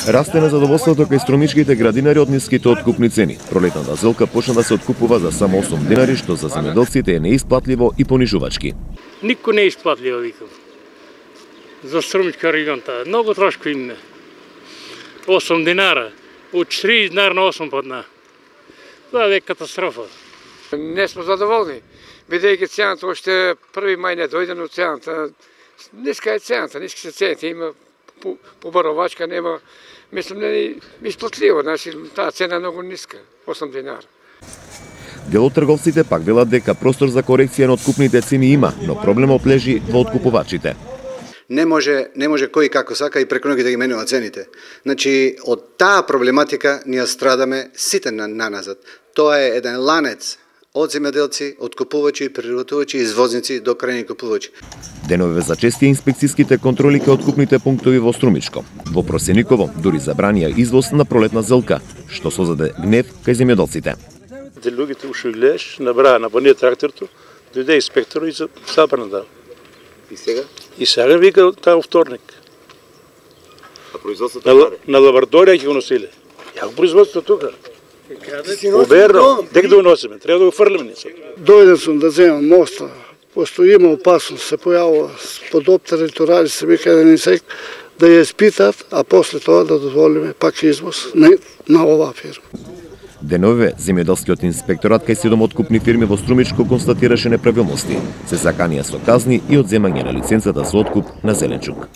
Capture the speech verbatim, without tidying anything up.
Расте незадоволството кај струмичките градинари од ниските откупни цени. Пролетната зелка почна да се откупува за само осум динари, што за земјоделците е неисплатливо и понижувачки. Никој не е исплатливо, викам. За струмичка регионта. Многу трошко имаме. осум динара. Од тридесет динара на осум подна. Това е катастрофа. Не сме задоволни, бидејќи цената уште први мај не дојде, но цената ниска е цената, ниски се цените, има побаровачка, нема, мислам, не е исплатливо, значи таа цена е многу ниска, осум динара. Дел од трговците пак велат дека простор за корекција на откупните цени има, но проблемот лежи во откупувачите. Не може, не може кој како сака и преку ноги да ги менува цените. Значи, од таа проблематика ние страдаме сите на, на назад. Тоа е еден ланец од земјоделци, откупувачи, преработувачи, извозници до крајни купувачи. Денове за чести инспекцијските контроли кај откупните пунктови во Струмичко. Во Просениково дури забранија извоз на пролетна зелка, што создаде гнев кај земјоделците. Те луѓето уште гледаш, набраа на понија тракторто, дојде инспектор и забрана да. И сега? И сега вика таа вторник. А производството на, на лабораторија ќе го носиле. Ја го производството тука. Оберно, дек да го носиме, треба да го фрлиме ние. Дојден сум да земам моста, пошто има опасност, се појавува под оптерен турари, се вика еден инсект, да ја испитат, а после тоа да дозволиме пак извоз на, на оваа фирма. Денове, земјоделскиот инспекторат кај седум откупни фирми во Струмичко констатираше неправилности. Се заканија со казни и одземање на лиценцата за откуп на зеленчук.